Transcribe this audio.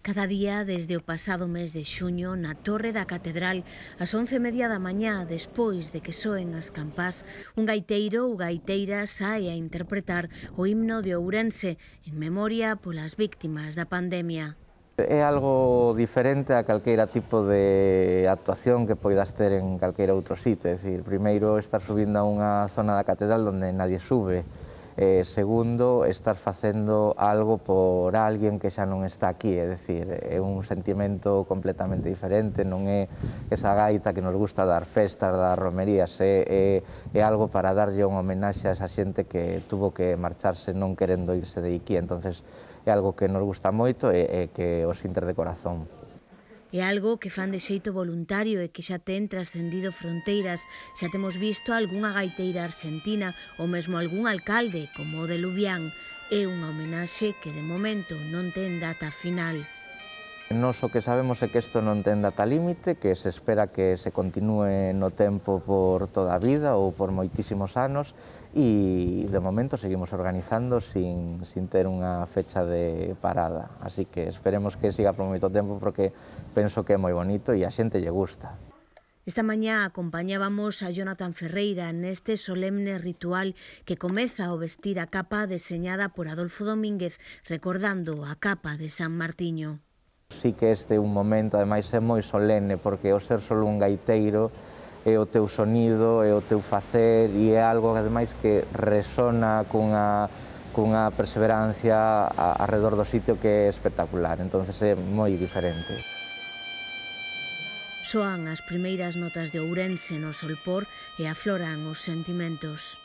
Cada día, desde o pasado mes de xuño, na Torre da Catedral, ás 11:30 da mañá, despois de que soen as campás, un gaiteiro ou gaiteira sae a interpretar o himno de Ourense en memoria polas víctimas da pandemia. É algo diferente a calqueira tipo de actuación que poidas ter en calqueira outro sitio, é dicir, primeiro estar subindo a unha zona da catedral onde nadie sube, segundo, estar facendo algo por alguén que xa non está aquí, é dicir, é un sentimento completamente diferente, non é esa gaita que nos gusta dar festas, dar romerías, é algo para darlle unha homenaxe a esa xente que tuvo que marcharse non querendo irse de aquí, entonces é algo que nos gusta moito e que os sinter de corazón. É algo que fan de xeito voluntario e que xa ten trascendido fronteiras. Xa temos visto algunha gaiteira argentina ou mesmo algún alcalde, como o de Lubián. É unha homenaxe que de momento non ten data final. Nos o que sabemos é que isto non ten data límite, que se espera que se continúe no tempo por toda a vida ou por moitísimos anos e de momento seguimos organizando sin ter unha fecha de parada. Así que esperemos que siga por moito tempo porque penso que é moi bonito e a xente lle gusta. Esta mañá acompañábamos a Jonathan Ferreira neste solemne ritual que comeza ao vestir a capa deseñada por Adolfo Domínguez, recordando a capa de San Martiño. Sí que este é un momento, ademais é moi solene, porque o ser solo un gaiteiro é o teu sonido, é o teu facer e é algo ademais que resona cunha perseverancia arredor do sitio que é espectacular, entonces é moi diferente. Soan as primeiras notas de Ourense no Solpor e afloran os sentimentos.